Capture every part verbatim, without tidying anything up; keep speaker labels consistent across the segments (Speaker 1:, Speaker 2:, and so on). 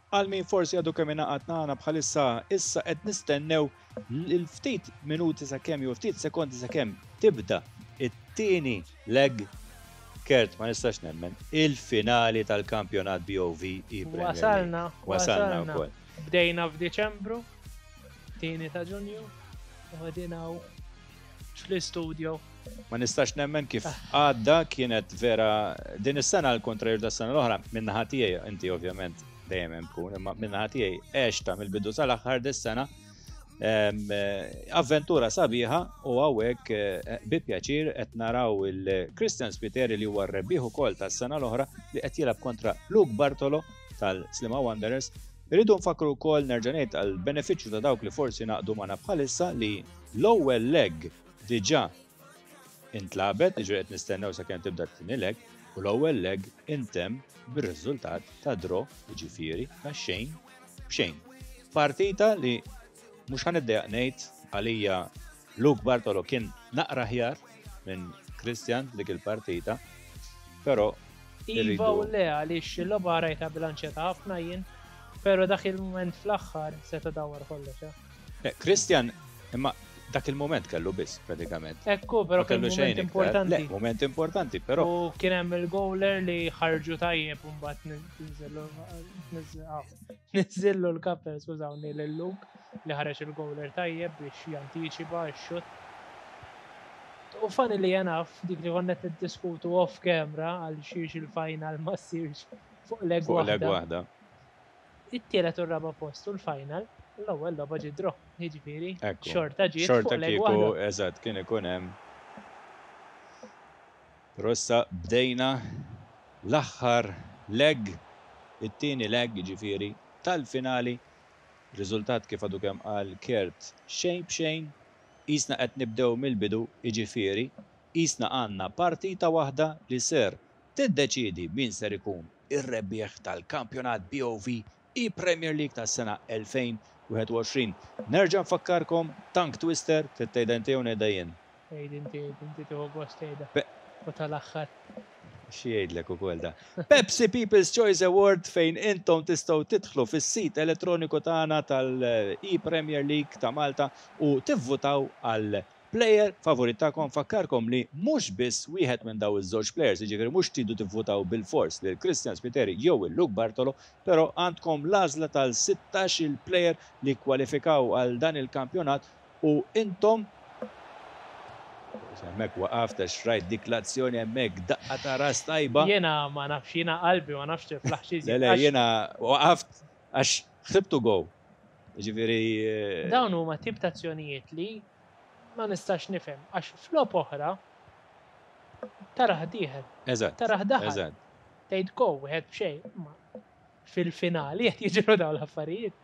Speaker 1: Għal min forsi għadu kemm ingħaqad magħna bħalissa, issa qed nistennew l-ftit minuti sakemm jew ftit sekondi sakemm tibda it-tieni leg. Kurt, ma nistax nemmen, il-finali tal-kampjonat B O V E-Premier.
Speaker 2: Wasalna,
Speaker 1: wasalna wkoll.
Speaker 2: Bdejna f'Diċembru, tieni ta' Ġunju, u qegħdin fl-istudio.
Speaker 1: Ma nistax nemmen kif għadda. Kienet vera din is-sena l-kontrarju tas-sena l-oħra min-naħa tiegħi, inti ovvjament dejjem hemm tkun, imma min-naħa tiegħi għextha mill-bidu sal-aħħar dis-sena. Em, eh, Avventura sabiħa u hawnhekk eh, bi pjaċir qed naraw il-Christian Spiteri, li huwa r-rebbieħ ukoll tas-sena l-oħra, li qed jilgħab kontra Luke Bartolo tal-Sliema Wanderers. Irridu nfakru wkoll, nerġa' ngħid għal benefiċċju ta' dawk li forsi ngħaqdu magħna bħalissa, li l-ewwel leg diġà intlagħbet, ġifieri qed nistennew sakemm tibda t-tieni leg, u l-ewwel leg intemm bir-riżultat ta' draw, jiġifieri ta' xejn b'xejn. Partita li mhux ħa niddejjaq ngħid, għalija Luke Bartolo kien naqra aħjar minn Christian dik il-partita, però
Speaker 2: Iva
Speaker 1: irridu-
Speaker 2: u le, għaliex il-logħba rajta bilanċjata ħafna jien, pero dak il-moment fl-aħħar seta' dawar kollox, eh.
Speaker 1: Eh, Christian, imma dak il-moment kellu biss pratikament.
Speaker 2: Ekku, pero
Speaker 1: Ma
Speaker 2: kien
Speaker 1: kellu xejn
Speaker 2: moment
Speaker 1: iktar.
Speaker 2: importanti.
Speaker 1: Le, moment importanti, però
Speaker 2: U kien hemm il-goaler li ħarġu tajjeb u mbagħad niżillu niżillu l-kapel, skużawni, lil Luke li ħareġ il-goaler tajjeb biex jantiċipa x-xut. U funny li enough, dik li konna niddiskutu off camera għal xiex il-final ma ssirx fuq leg
Speaker 1: fuq leg
Speaker 2: waħda.
Speaker 1: waħda.
Speaker 2: It-tielet u r-raba post u l-final, l-ewwel logħba ġie draw, jiġifieri
Speaker 1: Ekku.
Speaker 2: xorta ġiet
Speaker 1: Xorta
Speaker 2: fuq leg
Speaker 1: kieku,
Speaker 2: waħda.
Speaker 1: Eżatt, kien ikun hemm. Però issa bdejna l-aħħar leg, it-tieni leg ġifieri tal-finali. Riżultat, kif għadu kemm qal Kurt, xejn b'xejn, qisna qed nibdew mill-bidu, jiġifieri qisna għandna partita waħda li ser tiddeċidi min ser ikun ir-rebbieħ tal-kampjonat B O V E-Premier League tas-sena elfejn u wieħed u għoxrin. Nerġa' nfakkarkom, tongue twister, trid tgħidha inti jew ngħidha jien?
Speaker 2: Għid inti, inti tieħu gost tgħidha.
Speaker 1: Pe-
Speaker 2: U tal-aħħar.
Speaker 1: Xi jgħidlek ukoll da. Pepsi People's Choice Award, fejn intom tistgħu tidħlu fis-sit elettroniku tagħna tal-E-Premier League ta' Malta u tivvutaw għal player favorit tagħkom. Fakkarkom li mhux biss wieħed minn daw iż-żewġ players, jiġifieri mhux tridu tivvutaw bil-fors lil Christian Spiteri jew il Luke Bartolo, però għandkom l-għażla tal-sittax il player li kwalifikaw għal dan il-kampjonat u intom. Hemmhekk waqaft għax rajt dik l-azzjoni hemmhekk, daqqa ta' ras tajba.
Speaker 2: Jiena ma nafx, jiena qalbi ma nafx tiflaħ xi.
Speaker 1: Le, le, jiena waqaft għax ħsibtu goal. Ġifieri. eh,
Speaker 2: Dawn huma tip ta' azzjonijiet li ma nistax nifhem għax f'logħob oħra taraħ dieħel,
Speaker 1: Eżatt.
Speaker 2: taraħ daħal,
Speaker 1: Eżatt.
Speaker 2: tgħid go wieħed b'xejn, ma fil-finali qed jiġru dawn l-affarijiet.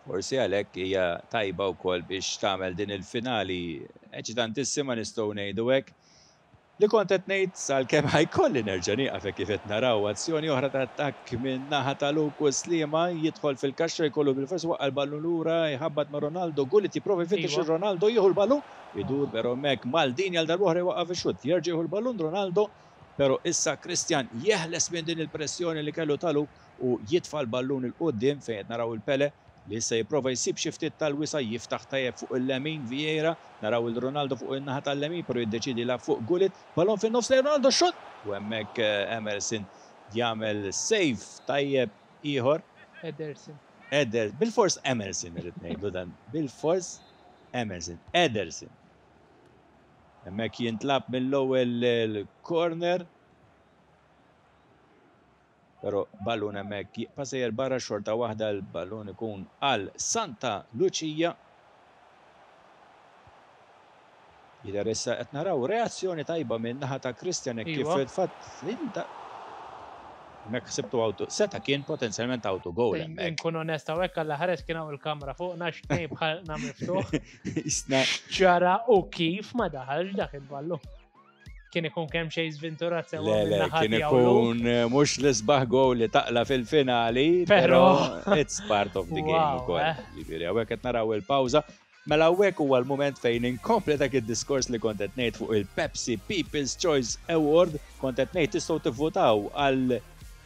Speaker 1: Forsi għalhekk hija tajba wkoll biex tagħmel din il-finali eċitantissima, nistgħu ngħidu hekk. Li kont qed ngħid, sal-kemm ħa jkolli nerġa' nieqaf, hekk kif qed naraw azzjoni oħra ta' attakk minn naħa ta' Luke Sliema, jidħol fil-kaxxa, jkollu bil-fors waqqa' l-ballun lura, jħabbat ma' Ronaldo, Gullit jipprova jfittex
Speaker 2: Iva.
Speaker 1: il Ronaldo, jieħu l-ballun, idur, però hemmhekk Maldini għal darb'oħra jwaqqaf ix-xutt, jerġa' jieħu l-ballun Ronaldo, però issa Christian jeħles minn din il-pressjoni li kellu ta' Luke u jitfa' l-ballun 'il quddiem fejn qed naraw il-Pele li issa jipprova jsib xi ftit tal-wisa', jiftaħ tajjeb fuq il-lemin Vieira, naraw il-Ronaldo fuq in-naħa tal-lemin, però jiddeċidi la fuq Gullit, ballon fin-nofs lejn Ronaldo, shot! U hemmhekk eh, Emerson jagħmel save tajjeb ieħor.
Speaker 2: Ederson.
Speaker 1: Eder, bil-fors Emerson irrid ngħidu dan, bil-fors Emerson, Ederson. Hemmhekk jintlab mill-ewwel il-corner. Però ballun hemmhekk jibqa' sejjer barra, xorta waħda l-ballun ikun għal Santa Lucia. Jidher issa qed naraw reazzjoni tajba minn naħa ta' Christian hekk kif
Speaker 2: Iva.
Speaker 1: fatt inta hemmhekk ħsibtu auto, seta' kien potenzjalment auto goal hemmhekk.
Speaker 2: Nkun onesta u hekk għalla ħares kien hawn il-kamra fuq nax tnejn bħalna miftuħ.
Speaker 1: Isna
Speaker 2: Ġara u kif ma daħalx dak il-ballu. Kien ikun kemm xejn żventurat sewa
Speaker 1: Le, le,
Speaker 2: min-naħa
Speaker 1: kien
Speaker 2: tiegħu Luke.
Speaker 1: ikun eh, mhux l-isbaħ goal li taqla fil-finali,
Speaker 2: Però
Speaker 1: però it's part of the game
Speaker 2: Wow,
Speaker 1: ukoll.
Speaker 2: eh.
Speaker 1: Ġifieri hawnhekk qed naraw il-pawża. Mela hawnhekk huwa l-mument fejn inkompli dak id-diskors li kont qed ngħid fuq il-Pepsi People's Choice Award, kont qed ngħid tistgħu tivvutaw għal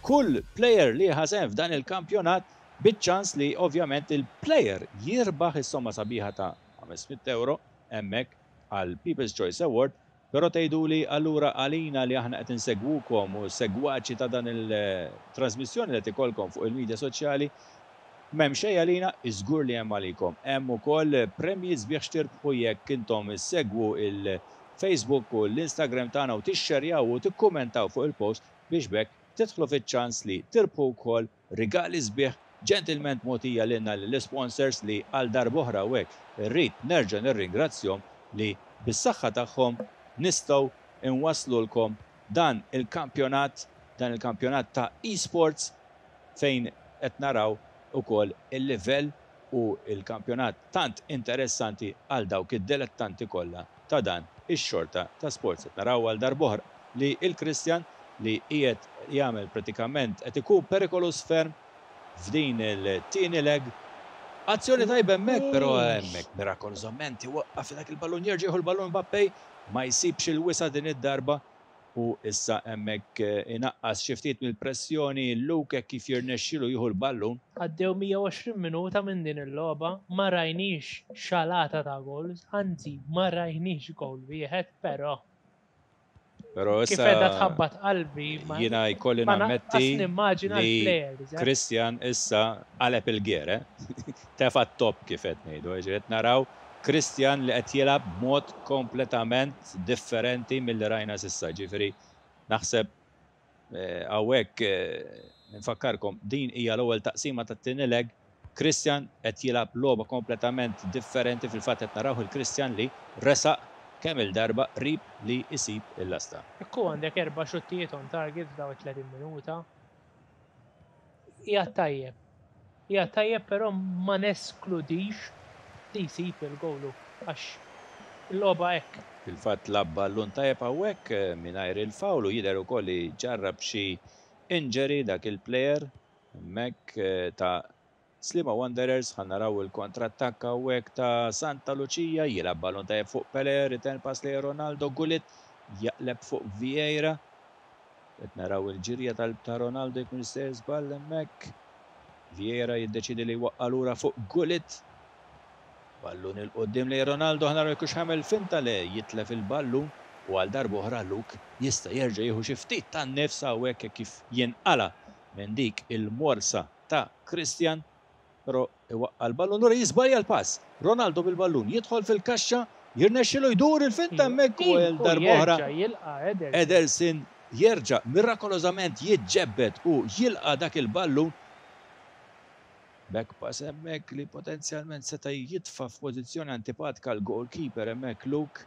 Speaker 1: kull player li ħa sehem f'dan il-kampjonat. Biċ-ċans li ovvjament il-player jirbaħ is-somma sabiħa ta' ħames mitt euro hemmhekk għal People's Choice Award. Però tgħiduli allura għalina li aħna qed insegwukom u segwaċi ta' dan il-trasmissjoni li qed ikollkom fuq il-medja soċjali, m'hemm xejn għalina? Iżgur li hemm għalikom. Hemm ukoll premji sbieħ x'tirbħu jekk intom issegwu il-Facebook u l-Instagram tagħna u tixxerjaw u tikkumentaw fuq il-post biex b'hekk tidħlu fiċ-ċans li tirbħu wkoll rigali sbieħ ġentilment mogħtija lilna l-sponsors li għal darb'oħra u hekk irrid nerġa' nirringrazzjahom li bis-saħħa tagħhom nistgħu inwaslulkom dan il-kampjonat, dan il-kampjonat ta' e-sports fejn qed naraw ukoll il-livell u il-kampjonat tant interessanti għal dawk id-dilettanti kollha ta' dan ix-xorta ta' sports. Qed naraw għal darb'oħra li il-Christian li qiegħed jagħmel pratikament qed ikun perikolus ferm f'din il-tieni leg. Azzjoni tajba hemmhekk, però hemmhekk mirakolosament iwaqqaf dak il-ballun, jerġa' jieħu l-ballun Mbappé, ma jsibx il-wisa din id-darba u issa hemmhekk eh, inaqqas xi ftit mill-pressjoni Luke kif jirnexxilu jieħu l-ballun.
Speaker 2: Għaddew mija u għoxrin minuta minn din il-logħba, ma rajniex xalata ta' goals, anzi ma rajniex goal wieħed, però
Speaker 1: Però
Speaker 2: kif
Speaker 1: issa
Speaker 2: qiegħda tħabbat qalbi ma
Speaker 1: jiena jkolli
Speaker 2: ma
Speaker 1: nammetti
Speaker 2: naqqas nimmaġina
Speaker 1: li
Speaker 2: l-players, eh.
Speaker 1: Christian issa qaleb il-gear, eh? Tefa top kif qed ngħidu, ġiet naraw Christian li qed jilgħab b'mod kompletament differenti milli rajna s'issa, ġifieri naħseb eh, hawnhekk eh, nfakkarkom din hija l-ewwel taqsima tat-tieni leg. Christian qed jilgħab logħba kompletament differenti. Fil-fatt qed naraw il-Christian li resaq kemm il-darba qrib li isib il-lasta.
Speaker 2: Ekku, għandek erba' xuttijiet on target f'daw it-tletin minuta. Hija tajjeb. Hija tajjeb, però ma neskludix li jsib il-gowlu għax il-logħba hekk.
Speaker 1: Fil-fatt lagħab ballun tajjeb hawnhekk eh, mingħajr il-fawlu, jidher ukoll li ġarrab xi injury dak il-player hemmhekk eh, ta' Sliema Wanderers. Ħa naraw il kontrattakk hawnhekk ta' Santa Lucia, jilgħab ballun tajjeb fuq Pele, return pass li Ronaldo, Gullit jaqleb fuq Vieira. Qed naraw il-ġirja tal ta' Ronaldo jkun sejjer żball hemmhekk. Vieira jiddeċidi li jwaqqa' lura fuq Gullit. Ballun 'il quddiem li Ronaldo, ħa naraw jekk hux ħa jagħmel finta li jitlef il-ballun u għal darb'oħra Luke jista' jerġa' jieħu xi ftit tan-nifs hawnhekk kif jinqala minn dik il-morsa ta' Christian, però iwaqqa' l-ballun lura, jiżbalja l-pass. Ronaldo bil-ballun jidħol fil-kaxxa, jirnexxilu jdur il-finta hemmhekk u għal darb'oħra
Speaker 2: Jerġa' jilqa' Ederson.
Speaker 1: Ederson jerġa' mirakolosament jiġġebbed u jilqa' dak il-ballun. Back pass hemmhekk li potenzjalment seta' jitfa' f'pożizzjoni antipatika l-goalkeeper hemmhekk Luke.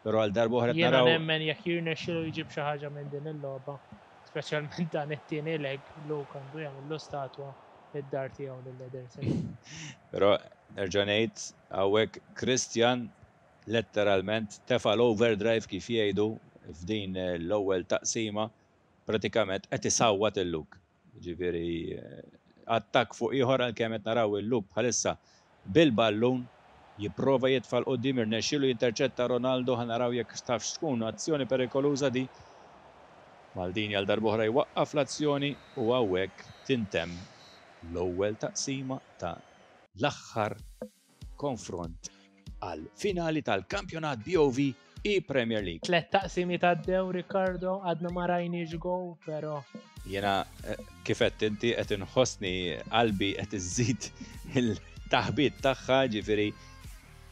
Speaker 1: Però għal darb'oħra qed
Speaker 2: Jiena
Speaker 1: naraw
Speaker 2: nemmen jekk jirnexxilu jġib xi ħaġa minn din il-logħba, speċjalment dan it-tieni leg, Luke għandu jagħmlu statwa id-dar tiegħu lil Ederson.
Speaker 1: Però nerġa' ngħid hawnhekk Christian letteralment tefa' l-overdrive kif jgħidu f'din l-ewwel taqsima, pratikament qed isawwat il-Luke. Ġifieri eh, attakk fuq ieħor, għalkemm qed naraw il-Luke bħalissa bil-ballun jipprova jitfa' 'l quddiem, irnexxielu jinterċetta Ronaldo, ħa naraw jekk tafx tkun azzjoni perikoluża di. Maldini għal darb'oħra jwaqqaf l-azzjoni u hawnhekk tintemm l-ewwel taqsima ta' l-aħħar konfront għal finali tal-kampjonat B O V e-Premier League.
Speaker 2: Tlet taqsimi għaddew, Ricardo, għadna ma rajniex goal, però
Speaker 1: Jena eh, kif qed inti qed inħossni qalbi qed iżid il-taħbit tagħha, ġifieri.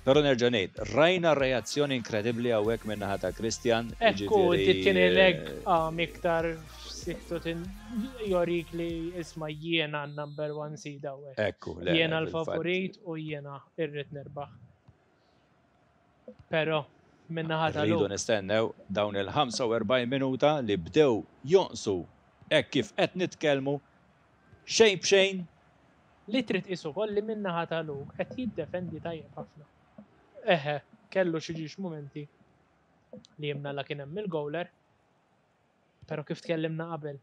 Speaker 1: Però nerġa' ngħid, rajna reazzjoni inkredibbli hawnhekk min-naħa ta' Christian.
Speaker 2: Ekku,
Speaker 1: ġifieri,
Speaker 2: it-tieni leg
Speaker 1: eh,
Speaker 2: għam iktar f'siktu jorik li isma' jiena number one seed hawnhekk.
Speaker 1: Ekku, le,
Speaker 2: Jiena
Speaker 1: fil-fatt.
Speaker 2: l-favorit u jiena irrid nirbaħ. Però min-naħa ta'
Speaker 1: Rridu
Speaker 2: Luke,
Speaker 1: nistennew dawn il-ħamsa u erbgħin minuta li bdew jonqsu hekk kif qed nitkellmu, xejn b'xejn.
Speaker 2: Li trid tqis ukoll li min-naħa ta' Luke qed jiddefendi tajjeb ħafna. Eħe, kellu xi ġiex momenti li jimna la kien hemm il-gowler. Però kif tkellimna qabel,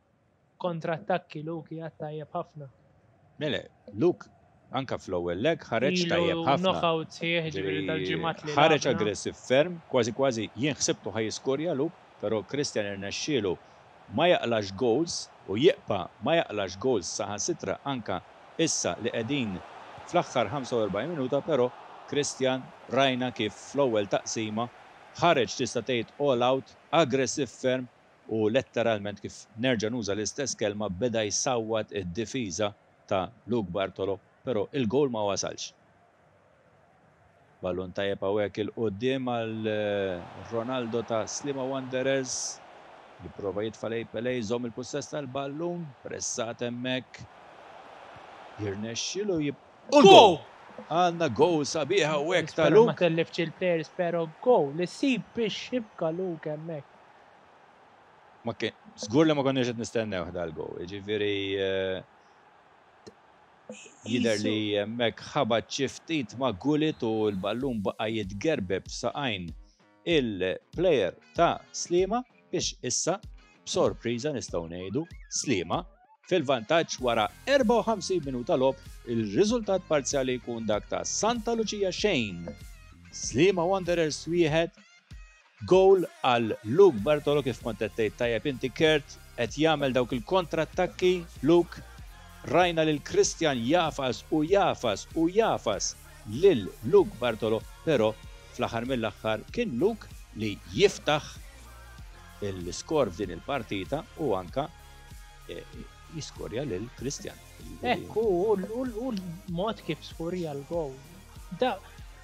Speaker 2: kontrattakki Luke qiegħed tajjeb ħafna.
Speaker 1: Mele, Luke anka fl-ewwel leg ħareġ
Speaker 2: Ilu
Speaker 1: tajjeb ħafna.
Speaker 2: Knockout sħiħ, ġifieri tal-ġimgħat li
Speaker 1: ħareġ
Speaker 2: lagħabna.
Speaker 1: aggressiv ferm, kważi kważi jien ħsibtu ħa jiskorja Luke, però Christian irnexxielu ma jaqlax goals u jibqa' ma jaqlax goals, saħansitra anka Issa li qegħdin fl-aħħar ħamsa u erbgħin minuta, però Christian, rajna kif fl-ewwel taqsima ħareġ, tista' tgħid, all out, aggressiv ferm u letteralment, kif nerġa' nuża l-istess kelma, beda jsawwat id-difiża ta' Luke Bartolo, però il-goal ma wasalx. Ballun tajjeb hawnhekk 'il quddiem għal eh, Ronaldo ta' Sliema Wanderers. Jipprova jitfa' lejn Pele, jżomm il-possess tal-ballun, pressat hemmhekk. Jirnexxilu jib. U l-goal! Għandna goal sabiħa hawnhekk ta'
Speaker 2: Nispera ma
Speaker 1: Luke.
Speaker 2: tellifx il-players, pero goal li sib biex xibka Luke hemmhekk.
Speaker 1: Ma kien, żgur li ma konniex qed nistennew dal-goal. Jiġifieri eh, jidher li hemmhekk ħabat xi ftit ma' Gullit u l-ballun baqa' jitgerbeb saqajn il-player ta' Sliema biex issa b'sorpriża nistgħu ngħidu Sliema fil-vantaġġ wara erbgħa u ħamsin minuta logħob. Il-riżultat parzjali jkun dak ta' Santa Lucia xejn, Sliema Wanderers wieħed. Goal għal Luke Bartolo, kif kont qed tgħid tajjeb inti, Kurt, qed jagħmel dawk il kontrattakki Luke. Rajna lil Christian jagħfas u jagħfas u jagħfas lil Luke Bartolo, però fl-aħħar mill-aħħar kien Luke li jiftaħ il-skor f'din il-partita u anka eh, jiskorja lil Christian.
Speaker 2: Ekku, u l-mod kif skorja l-goal. Da,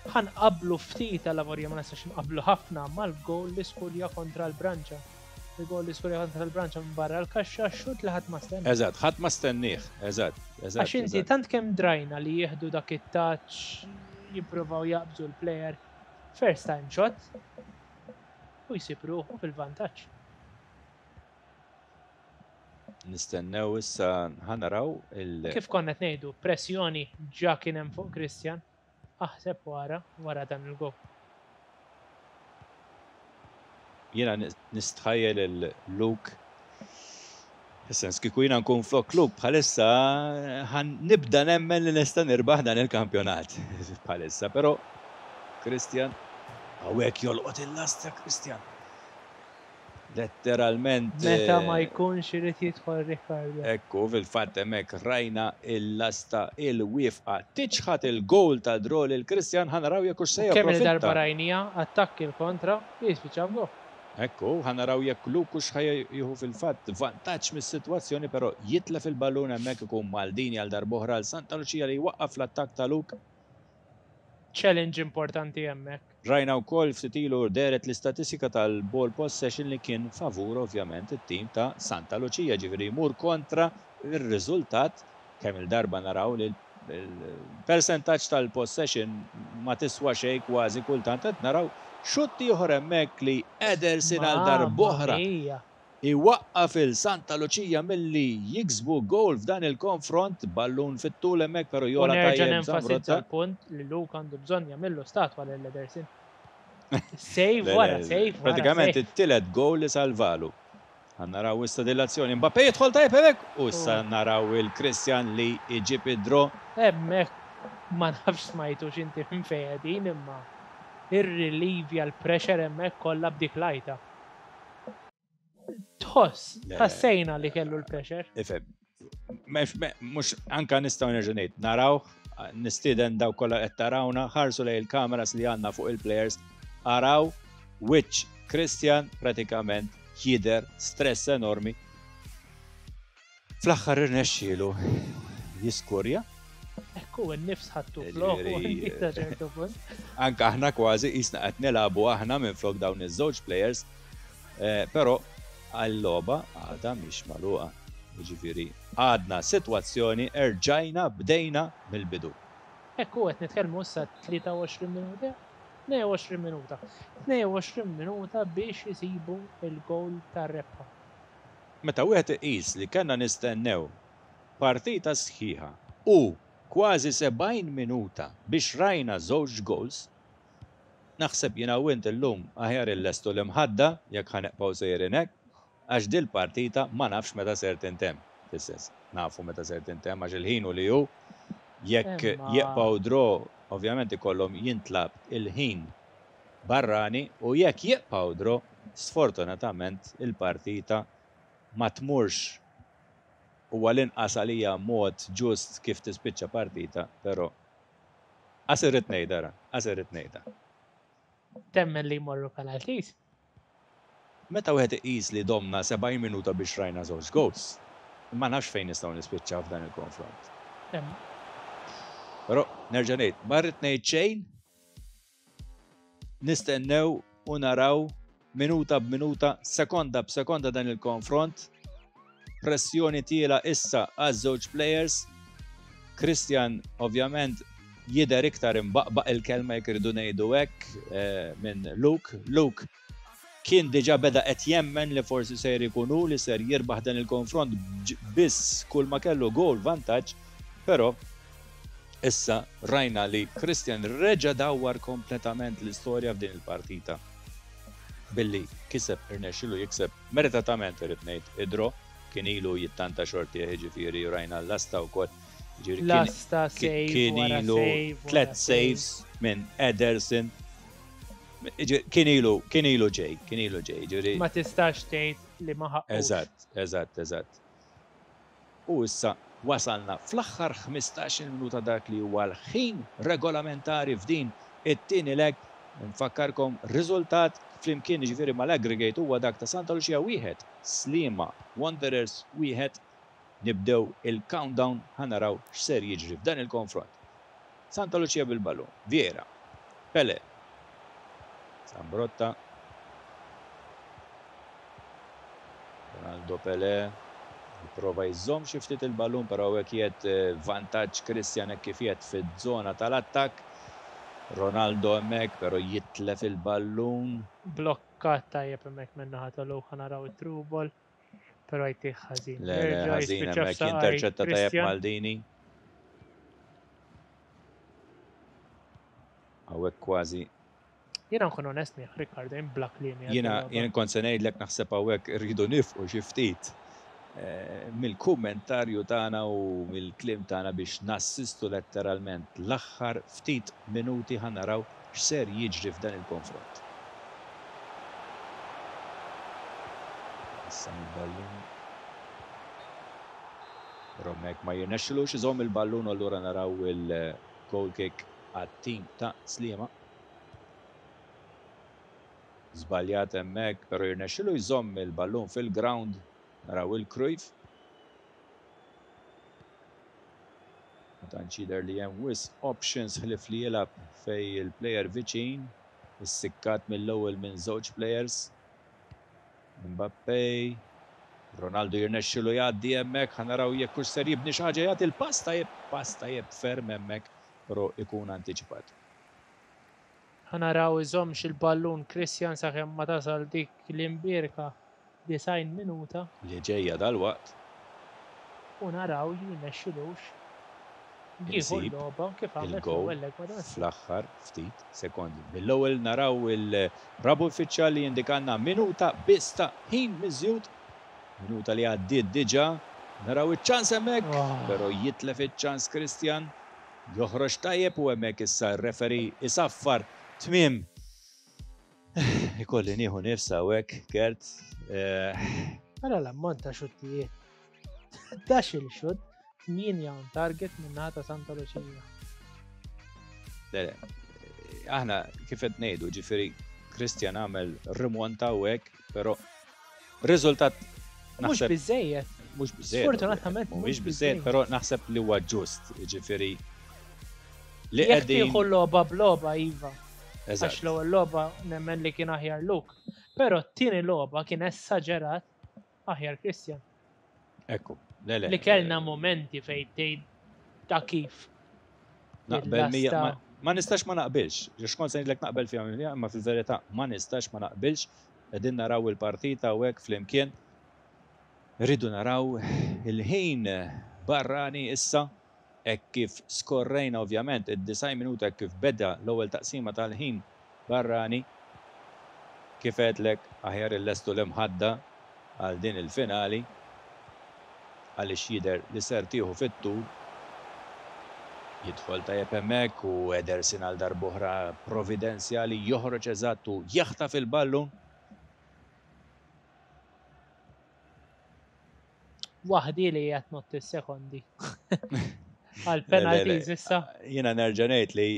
Speaker 2: ħa nqabblu ftit, għal ma nistax nqablu ħafna mal-goal li skorja kontra l-Branċa. Il-goal li skorja kontra l-Branċa minn barra l-kaxxa, xut li ħadd ma stenna.
Speaker 1: Eżatt, ħadd ma stennieh, eżatt, eżatt.
Speaker 2: Għax inti tant kemm drajna li jieħdu dak it-touch, jippruvaw jaqbżu l-player, first time shot, u jsib ruħu fil-vantaġġ.
Speaker 1: Nistennew issa, ħa naraw il-
Speaker 2: Kif konna qed ngħidu, pressjoni ġa kien hemm fuq Christian. Aħseb wara, wara dan il-goal.
Speaker 1: Jiena nistħajjel il-Luke. Sens kieku jiena nkun flok Luke bħalissa, ħa nibda nemmen li nista' nirbaħ dan il-kampjonat bħalissa, però Christian hawnhekk jolqot il-lasta, Christian. Letteralment.
Speaker 2: Meta ma jkunx irid jidħol Ricardo.
Speaker 1: Ekku, fil-fatt hemmhekk rajna il-lasta il-wifqa tiċħat il-goal ta' draw lil Christian. Ħa naraw jekk se
Speaker 2: Kemm il-darba rajnija, attakki il-kontra, jispiċċa goal.
Speaker 1: Ekku, ħa naraw jekk Luke ħa jieħu fil-fatt vantaġġ mis-sitwazzjoni, però jitlef il-ballun hemmhekk. Ikun Maldini għal darb'oħra għal Santa Lucia li jwaqqaf l-attakk ta' Luke.
Speaker 2: Challenge importanti hemmhekk.
Speaker 1: Rajna wkoll ftit ilu dehret l-istatistika tal-ball possession li kien favur ovvjament it-tim ta' Santa Lucia, ġifieri jmur kontra ir-riżultat. Kemm il-darba naraw li l-percentaġġ tal-possession ma tiswa xejn kważi kultant. Qed naraw xutt ieħor hemmhekk li Ederson għal darb'oħra iwaqqaf il-Santa Lucia milli jiksbu goal f'dan il-konfront. Ballun fit-tul hemmhekk, però jogħla
Speaker 2: tajjeb. Nenfasizza l-punt li Luke għandu bżonn jagħmillu statwa lil Ederson. Save wara, save wara.
Speaker 1: Pratikament it-tielet goal li salvalu. Ħa naraw issa dil-azzjoni. Mbappé jidħol tajjeb hemmhekk u issa naraw il-Christian li iġib id-draw.
Speaker 2: Hemmhekk ma nafx smajtu x'inti minn fejn, imma irrilivja l-pressure hemmhekk kollha b'dik l-għajta. Tħoss, ħassejna li kellu l-pressure.
Speaker 1: Ifhem, mhux anka nistgħu nerġa' ngħid, naraw, nistieden daw kollha qed tarawna, ħarsu lejn il-kameras li għandna fuq il-players, araw which Christian pratikament jidher stress enormi. Fl-aħħar irnexxielu jiskurja.
Speaker 2: Ekku, n-nifs ħattu flok, ċertu punt.
Speaker 1: Anka aħna kważi qisna qed nilagħbu aħna minn flok dawn iż-żewġ players, eh, però għall-logħba għadha mhix magħluqa. Jiġifieri għadna sitwazzjoni, erġajna bdejna mill-bidu.
Speaker 2: Ekku, qed nitkellmu issa tlieta u għoxrin minuta, tnejn u għoxrin minuta. tnejn u għoxrin minuta biex jisibu il-goal tar-rebħa.
Speaker 1: Meta wieħed iqis li kellna nistennew partita sħiħa u kważi sebgħin minuta biex rajna żewġ goals, naħseb jiena u int illum aħjar illestu l-imħadda jekk ħa nibqgħu sejrin hekk, għax dil-partita ma nafx meta ser tintemm. Fis-sens, nafu meta ser tintemm għax il-ħin u li hu jekk jibqgħu draw, ovvjament ikollhom jintlagħab il-ħin barrani u jekk jibqgħu draw, sfortunatament il-partita ma tmurx Huwa l-inqas għalija mod ġust kif tispiċċa partita, però qas irrid ngħidha ra, qas irrid ngħidha.
Speaker 2: Temmen li jmorru penalties?
Speaker 1: Meta wieħed iqis li domna sebgħin minuta biex rajna żewġ goals, ma nafx fejn nistgħu nispiċċaw f'dan il-konfront. Però nerġa' ngħid, ma rrid ngħid xejn, nistennew u naraw minuta b'minuta, sekonda b'sekonda dan il-konfront. Pressjoni tiela issa għaż-żewġ players. Christian ovvjament jidher iktar imbaqbaq il-kelma jekk irridu ngħidu hekk eh, minn Luke. Luke kien diġà beda qed jemmen li forsi ser ikun hu li ser jirbaħ dan il-konfront biss kull ma kellu goal vantaġġ, però issa rajna li Christian reġa' dawwar kompletament l-istorja f'din il-partita billi kiseb irnexxilu jikseb meritatament irid ngħid id-draw, kien ilu jittanta xortih jiġifieri rajna l-lasta wkoll.
Speaker 2: Lasta save
Speaker 1: kien ilu tliet saves minn Ederson. Kien ilu, kien ilu ġej, kien ilu ġej, ġifieri.
Speaker 2: Ma tistax tgħid li ma ħaqqux.
Speaker 1: Eżatt, eżatt, eżatt. U issa wasalna fl-aħħar ħmistax-il minuta dak li huwa l-ħin regolamentari f'din it-tieni leg. Nfakkarkom riżultat flimkien jiġifieri mal-aggregate huwa dak ta' Santa Lucia wieħed, Sliema Wanderers wieħed. Nibdew il-countdown ħa naraw x'ser jiġri f'dan il-konfront. Santa Lucia bil-ballun, Vieira, Pele, Zambrotta, Ronaldo Pele, jipprova jżomm xi ftit il-ballun, però hawnhekk qiegħed eh, vantaġġ Christian hekk kif qiegħed fiż-żona tal-attakk. Ronaldo hemmhekk, però jitlef il-ballun.
Speaker 2: Blokkat tajjeb hemmhekk min-naħa ta' Luke, naraw it-through ball, però jtih ħażin.
Speaker 1: Le, le,
Speaker 2: Jerġa'
Speaker 1: ħażin
Speaker 2: jispiċċa
Speaker 1: hemmhekk
Speaker 2: f'saqaj
Speaker 1: jinterċetta tajjeb
Speaker 2: Christian.
Speaker 1: Maldini. Hawnhekk kważi.
Speaker 2: Jiena nkun onest miegħek, Riccardo, jien bla kliem jgħid
Speaker 1: Jiena
Speaker 2: il-logħba.
Speaker 1: jien kont se ngħidlek naħseb hawnhekk irridu nifqu xi ftit, eh, mill-kummentarju tagħna u mill-kliem tagħna biex nassistu letteralment l-aħħar ftit minuti ħa naraw x'ser jiġri f'dan il-konfront. Issa il-ballun. Però hemmhekk ma jirnexxilux iżomm il-ballun u allura naraw il-goal kick għat-tim ta' Sliema. Żbaljat hemmhekk, però jirnexxilu jżomm il-ballun fil-ground. Naraw il-Cruyff. Ma tantx jidher li hemm wisq options ħlief li jilgħab fej il-player viċin, issikkat mill-ewwel minn żewġ players. Mbappé, Ronaldo jirnexxilu jgħaddi hemmhekk, ħa naraw jekk hux ser jibni xi ħaġa, jagħti l-pass tajjeb, pass tajjeb ferm hemmhekk, però ikun antiċipat.
Speaker 2: Ħa naraw iżommx il-ballun Christian sakemm ma tasal dik l-imbierka disgħin minuta.
Speaker 1: Li ġejja dal-waqt.
Speaker 2: U naraw jirnexxilux jieħu
Speaker 1: Insib
Speaker 2: l-logħba kif għamel
Speaker 1: il-goal
Speaker 2: fl-ewwel leg ma' Dawson.
Speaker 1: fl-aħħar ftit sekondi. Mill-ewwel naraw il-rabu uffiċjali jindikanna minuta biss ta' ħin miżjud. Minuta li għaddiet diġà. Naraw iċ-ċans hemmhekk,
Speaker 2: Oh.
Speaker 1: però jitlef iċ-ċans Christian. Joħroġ tajjeb u hemmhekk issa r-referee isaffar tmiem. Ikolli nieħu nifs hawnhekk, Kurt. Eh,
Speaker 2: Ara l-ammont ta' xuttijiet. Dax il-xutt, tmienja on target minn ta' Santa Lucia.
Speaker 1: Le, le, aħna kif qed ngħidu, ġifieri Christian għamel rimonta hawnhekk, però riżultat
Speaker 2: Mhux
Speaker 1: naħseb
Speaker 2: biżejjed.
Speaker 1: Mhux biżejjed,
Speaker 2: Sfortunatament
Speaker 1: mhuwiex
Speaker 2: mhux
Speaker 1: biżejjed,
Speaker 2: biżejjed.
Speaker 1: però naħseb li huwa ġust, ġifieri li
Speaker 2: Jekk
Speaker 1: qegħdin
Speaker 2: tieħu logħba b'logħba iva.
Speaker 1: Eżatt.
Speaker 2: Għax l-ewwel logħba nemmen li kien aħjar Luke, però t-tieni logħba kien esaġerat aħjar Christian.
Speaker 1: Ekku, le, le.
Speaker 2: Li kellna momenti fejn tgħid ta' kif.
Speaker 1: Naqbel mija,
Speaker 2: Il-lasta.
Speaker 1: ma, ma nistax ma naqbilx. Għax kont se ngħidlek naqbel fiha mija, imma fil-verità ma nistax ma naqbilx. Qegħdin naraw il-partita u hekk flimkien. Rridu naraw il-ħin barrani issa, hekk kif skorrejna ovvjament id-disgħin minuta hekk kif beda l-ewwel taqsima tal-ħin barrani. Kif għedlek aħjar illestu l-imħadda għal din il-finali għaliex jidher li ser tieħu fit-tul. Jidħol tajjeb hemmhekk u Ederson għal darb'oħra providenzjali joħroġ eżatt u jaħtaf il-ballun.
Speaker 2: Waħdi li qed ngħodd is-sekondi. Għal penalties issa.
Speaker 1: Jiena nerġa' ngħid li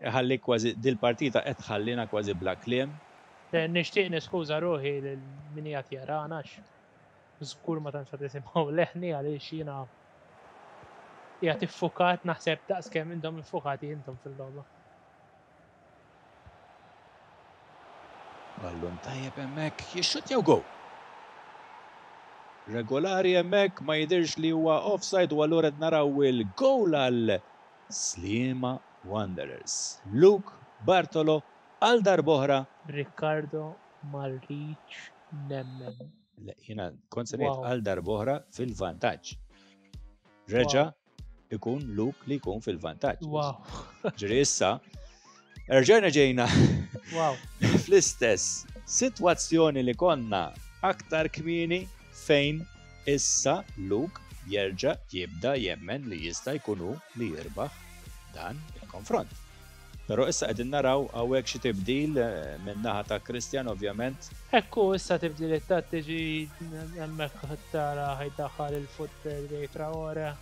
Speaker 1: ħalli kważi dil-partita qed ħallina kważi bla kliem.
Speaker 2: Nixtieq niskuża ruħi lil min qiegħed jarana għax żgur ma tantx tisimgħu leħni għaliex jiena qiegħed iffukat, naħseb daqskemm intom iffukati intom fil-logħba.
Speaker 1: Ballun tajjeb hemmhekk, jixxut jew go. Regolari hemmhekk, ma jidirx li huwa offside u allura qed naraw il-goal għal Sliema Wanderers. Luke Bartolo għal darb'oħra.
Speaker 2: Riccardo ma rridx nemmen.
Speaker 1: Le, jiena kont se ngħid għal darb'oħra fil-vantaġġ. Reġa' ikun Luke li jkun fil-vantaġġ.
Speaker 2: Wow.
Speaker 1: Ġri issa, erġajna ġejna
Speaker 2: wow.
Speaker 1: fl-istess sitwazzjoni li konna aktar kmieni fejn issa Luke jerġa' jibda jemmen li jista' jkunu li jirbaħ dan il-konfront. Però issa qegħdin naraw hawnhekk xi tibdil minn naħa ta' Christian ovvjament.
Speaker 2: Ekku issa tibdil it-tattiġi hemmhekk tara ħajdaħħal il-football dej Traore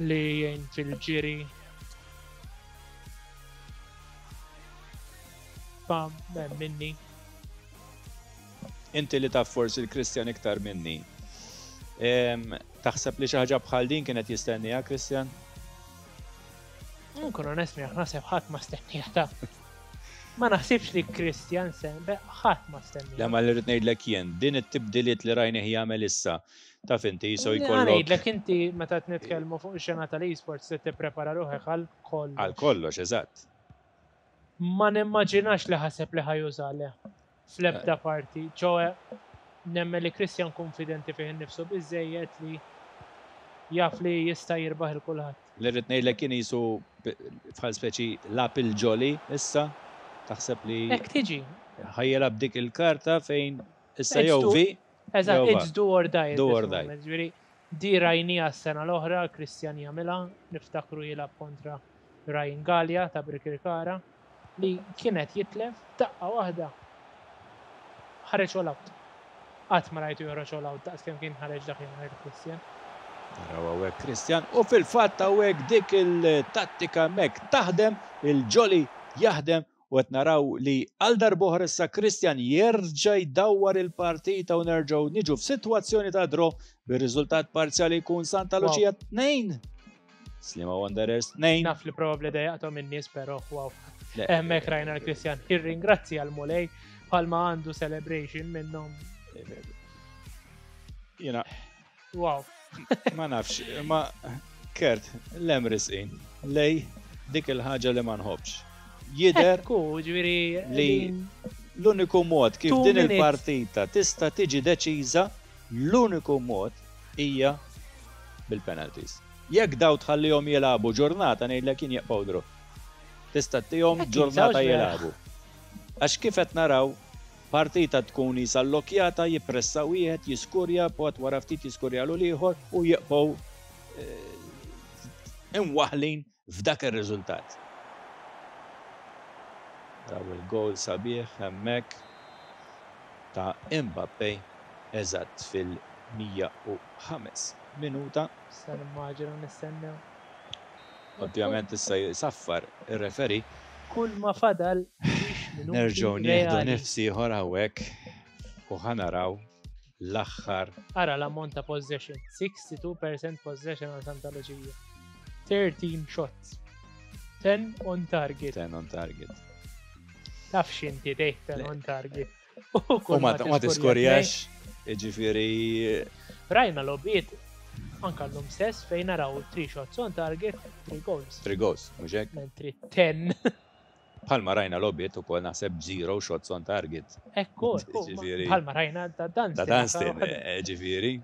Speaker 2: li jgħin fil-ġiri. Pam, minni.
Speaker 1: Inti li taf forsi l-Christian iktar minni. Taħseb li xi ħaġa bħal din kienet jistennija Christian?
Speaker 2: Nkun onest miegħek, naħseb ħadd ma stennija ta'. Ma naħsibx li Christian sen, ħadd ma stennija.
Speaker 1: Le, ma li rrid ngħidlek jien, din it-tibdiliet li rajnih jagħmel issa, taf inti jiso jkollok.
Speaker 2: Ngħidlek inti meta qed nitkellmu fuq ix-xena tal-esports se tipprepara ruħek għal kollox.
Speaker 1: Għal kollox, eżatt.
Speaker 2: Ma nimmaġinax li ħaseb li ħajuża le fl-ebda parti, ċoe nemmen li Christian konfidenti fih innifsu biżejjed li jaf li jista' jirbaħ il kulħadd.
Speaker 1: Li rrid ngħidlek kien jisu bħal speċi lab il-ġoli issa, taħseb li
Speaker 2: Hekk tiġi.
Speaker 1: Ħajjelab dik il-karta fejn issa jew vi.
Speaker 2: Eżatt, it's do or die.
Speaker 1: Do or die.
Speaker 2: Ġifieri di rajnija s-sena l-oħra, Christian jagħmilha, niftakru jilgħab kontra Ryan Gallia ta' Birkirkara li kienet jitlef daqqa waħda. Ħareġ all out. Qatt ma rajtu joħroġ all out daqs kemm kien ħareġ dakinhar Christian.
Speaker 1: Naraw hawnhekk Christian u fil-fatt hawnhekk dik il-tattika hemmhekk taħdem, il-ġoli jaħdem u qed naraw li għal darb'oħra issa Christian jerġa' jdawwar il-partita u nerġgħu niġu f'sitwazzjoni ta' draw bir-riżultat parzjali jkun Santa Lucia tnejn. Sliema Wanderers tnejn.
Speaker 2: Naf li probabbli dejjaqthom in-nies però wow. Hemmhekk rajna l-Christian jirringrazzja l-Mulej bħalma għandu celebration minnhom.
Speaker 1: Jiena
Speaker 2: Wow.
Speaker 1: Ma nafx, ma Kurt, lem risqin, lej dik il-ħaġa li ma nħobbx. Jidher
Speaker 2: Ekku, ġifieri
Speaker 1: li l-uniku mod kif din il-partita tista' tiġi deċiża, l-uniku mod hija bil-penalties. Jekk daw tħallihom jilagħbu ġurnata ngħidlek jien jaqbgħu draw. Tista' tihom ġurnata jilagħbu. Għax kif qed naraw partita tkun isa allokjata, jippressa wieħed, jiskurja, pot wara ftit jiskurja l ieħor u jibqgħu imwaħlin f'dak ir-riżultat. Raw il-goal sabiħ hemmhekk ta' Mbappé eżatt fil-mija u ħames minuta.
Speaker 2: Issa nimmaġina nistennew.
Speaker 1: Ovvjament issa jisaffar ir-referi.
Speaker 2: Kull ma fadal
Speaker 1: nerġgħu nieħdu nifs ieħor hawnhekk u ħanaraw l-aħħar.
Speaker 2: Ara l-ammont ta' possession, sixty-two percent possession għal Santa Lucia. thirteen shots. ten on target.
Speaker 1: ten on target.
Speaker 2: Taf x'inti tgħid ten on target.
Speaker 1: U ma tiskorjax, jiġifieri
Speaker 2: Rajna logħbiet anka llum stess fejn naraw three shots on target, three goals.
Speaker 1: Three goals, mhux hekk?
Speaker 2: Mentri ten.
Speaker 1: Bħalma rajna logħbiet ukoll naħseb zero shots on target.
Speaker 2: Ekku, ekku, bħalma rajna ta' Dunstan.
Speaker 1: Ta' Dunstan, ġifieri.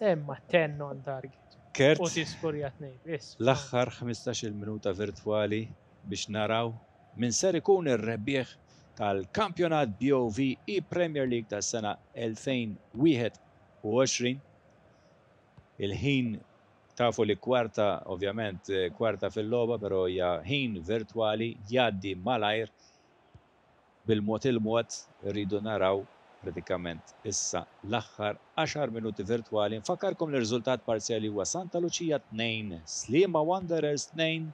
Speaker 2: Imma ten on target.
Speaker 1: Kurt,
Speaker 2: U tiskurja tnejn, biss.
Speaker 1: L-aħħar ħmistax-il minuta virtwali biex naraw min ser ikun ir-rebbieħ tal-kampjonat B O V E Premier League tas-sena elfejn wieħed u għoxrin. Il-ħin tafu li kwarta, ovvjament, kwarta fil-logħba, però hija ħin virtwali jgħaddi malajr bil-mod il-mod rridu naraw Pratikament issa l-aħħar għaxar minuti virtwali. Nfakkarkom li r-riżultat parzjali huwa Santa Lucia tnejn, Sliema Wanderers tnejn.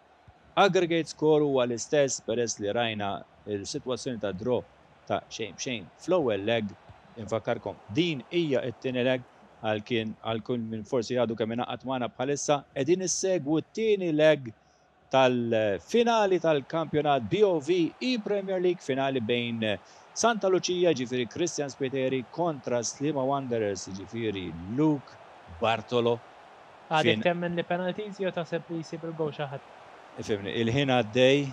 Speaker 1: Aggregate score huwa l-istess peress li rajna il-sitwazzjoni ta' draw ta' xejn b'xejn fl-ewwel leg. Infakkarkom din hija t-tieni leg għal kien għal kull min forsi għadu kemm ingħaqad magħna bħalissa, qegħdin issegwu t-tieni leg tal-finali tal-kampjonat B O V E-Premier League, finali bejn Santa Lucia, ġifieri Christian Spiteri, kontra Sliema Wanderers, ġifieri Luke Bartolo.
Speaker 2: Għadek temmen li penalties jew taħseb li jsib il-goal xi ħadd?
Speaker 1: Ifhimni, il-ħin għaddej,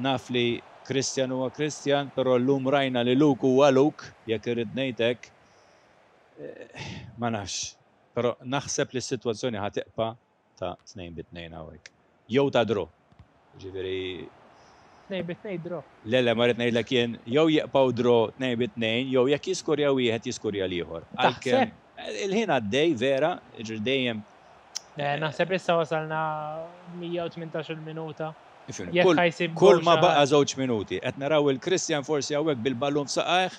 Speaker 1: naf li Christian huwa Christian, però llum rajna li Luke huwa Luke, jekk irrid ngħidlek, eh, ma nafx. Però naħseb li s-sitwazzjoni ħa tibqa' ta' tnejn bi tnejn hawnhekk. Jew ta' draw. Ġifieri
Speaker 2: Tnejn bi tnejn draw.
Speaker 1: Le, le, ma rrid ngħidlek jien, jew jibqgħu draw tnejn bi tnejn, jew jekk jiskurja wieħed jiskurja l-ieħor. Għalkemm il-ħin għaddej vera, ġifieri dejjem.
Speaker 2: Le, naħseb issa wasalna mija u tmintax-il minuta.
Speaker 1: Ifhimni,
Speaker 2: Jekk
Speaker 1: kull,
Speaker 2: ħa jsib
Speaker 1: kull
Speaker 2: goal
Speaker 1: ma
Speaker 2: xi
Speaker 1: baqa'
Speaker 2: ħadd.
Speaker 1: żewġ minuti, qed naraw il-Christian forsi hawnhekk bil-ballun f'saqajh,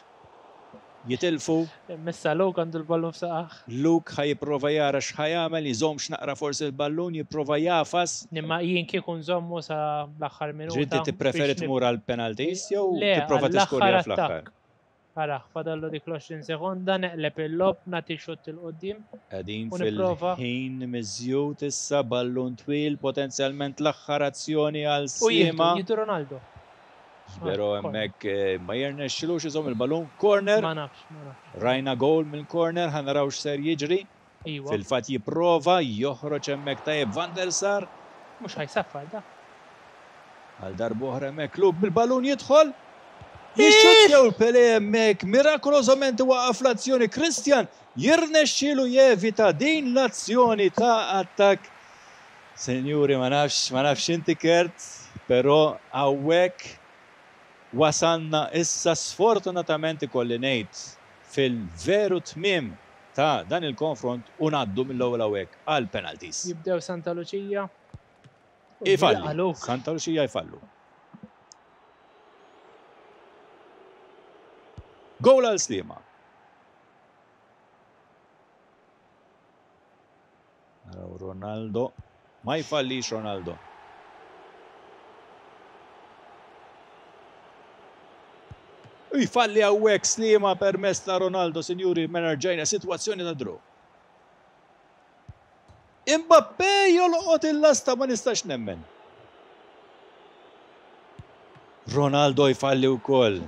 Speaker 1: jitilfu.
Speaker 2: Missa Luke għandu l-ballun f'saqajh.
Speaker 1: Luke ħa jipprova jara x'ħa jagħmel, jżomm naqra forsi l-ballun, jipprova jagħfas.
Speaker 2: Imma jien kieku nżommu sa l-aħħar minuta.
Speaker 1: Ġiddi tippreferi
Speaker 2: biex nib-
Speaker 1: tmur għal penalties jew
Speaker 2: Le,
Speaker 1: tipprova
Speaker 2: għall-aħħar
Speaker 1: tiskurja fl-aħħar?
Speaker 2: attakk. Ara, fadallu dik l-għoxrin sekonda, neqleb il-logħob, nagħti xutt 'il quddiem.
Speaker 1: Qegħdin
Speaker 2: U nipprova.
Speaker 1: fil-ħin miżjud issa, ballun twil, potenzjalment l-aħħar azzjoni għal
Speaker 2: U jieħdu,
Speaker 1: Sliema.
Speaker 2: jieħdu Ronaldo.
Speaker 1: Però
Speaker 2: Ah, corner.
Speaker 1: hemmhekk eh, ma jirnexxilux iżomm il-ballun. Corner,
Speaker 2: Ma nafx, ma nafx.
Speaker 1: Rajna goal mill corner, ħa naraw x'ser jiġri.
Speaker 2: Iwa,
Speaker 1: Fil-fatt jipprova joħroġ hemmhekk tajjeb Van der Sar.
Speaker 2: Mhux ħa jsaffar da.
Speaker 1: Għal darb'oħra hemmhekk Luke bil-ballun jidħol. Jixxuttjaw Pele hemmhekk, mirakolosament waqaf l-azzjoni. Christian jirnexxielu jevita din l-azzjoni ta' attakk. Senjuri, ma nafx, ma nafx inti Kurt, però hawnhekk wasalna issa, sfortunatament ikolli ngħid, fil-veru tmiem ta' dan il-konfront u ngħaddu mill-ewwel hawnhekk għal penalties.
Speaker 2: Jibdew Santa Lucia. U
Speaker 1: Ifalli.
Speaker 2: jilqa' Luke.
Speaker 1: Santa Lucia jfallu. Goal għal Sliema. Naraw Ronaldo. Ma jfallix Ronaldo. U jfalli hawnhekk Sliema permezz ta' Ronaldo, sinjuri, mela rġajna sitwazzjoni ta' draw. Mbappé jolqot il-lasta, ma nistax nemmen. Ronaldo jfalli wkoll.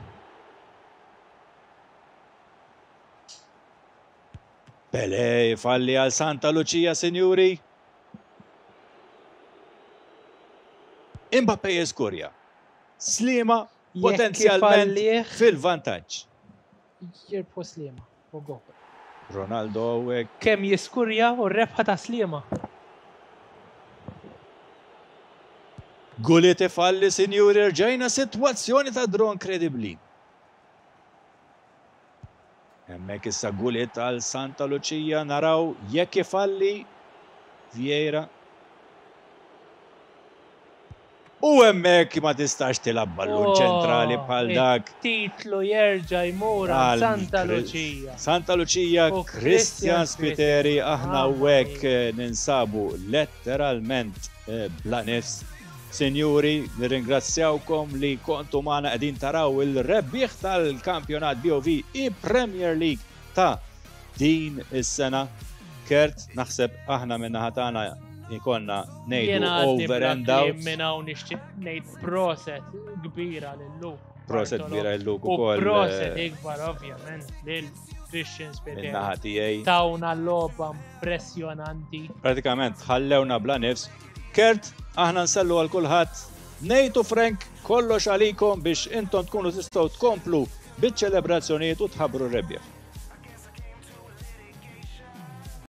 Speaker 1: Pele jfalli għal Santa Lucia, sinjuri. Mbappé jeskurja. Sliema
Speaker 2: Jekk
Speaker 1: potenzjalment
Speaker 2: ifallih,
Speaker 1: fil-vantaġġ.
Speaker 2: Jirbħu Sliema. U go.
Speaker 1: Ronaldo hawnhekk.
Speaker 2: Kemm jiskurja u r-rebħa ta' Sliema.
Speaker 1: Gullit ifalli, sinjuri, rġajna sitwazzjoni ta' draw inkredibbli. Hemmhekk issa Gullit għal Santa Lucia, naraw jekk ifalli Vieira. U hemmhekk ma tistax tilgħab ballun
Speaker 2: Oh,
Speaker 1: ċentrali bħal dak.
Speaker 2: Titlu jerġa' jmur għal
Speaker 1: Għal
Speaker 2: Santa
Speaker 1: Kri-
Speaker 2: Lucia.
Speaker 1: Santa Lucia,
Speaker 2: U
Speaker 1: Christian
Speaker 2: Christian
Speaker 1: Spiteri, aħna
Speaker 2: Mamma
Speaker 1: hawnhekk
Speaker 2: mia.
Speaker 1: eh, ninsabu letteralment eh, bla nifs. Sinjuri, nirringrazzjawkom li kontu magħna qegħdin taraw il-rebbieħ tal-kampjonat B O V E-Premier League ta' din is-sena. Kurt, naħseb aħna minna tagħna ikonna ngħidu
Speaker 2: Jiena għadni
Speaker 1: over
Speaker 2: bla
Speaker 1: and out.
Speaker 2: kliem minn hawn, nixtieq ngħid proset kbira lil Luke.
Speaker 1: Proset
Speaker 2: Bartolo.
Speaker 1: kbira lil Luke
Speaker 2: U
Speaker 1: ukoll
Speaker 2: proset
Speaker 1: eh,
Speaker 2: ikbar ovvjament lil Christian Spiteri.
Speaker 1: min-naħa tiegħi.
Speaker 2: Tawna logħba impressjonanti.
Speaker 1: Pratikament ħallewna bla nifs. Kurt, aħna nsellu għal kulħadd. Nate u Frank, kollox għalikom biex intom tkunu tistgħu tkomplu biċ-ċelebrazzjonijiet u tħabbru r-rebbieħ.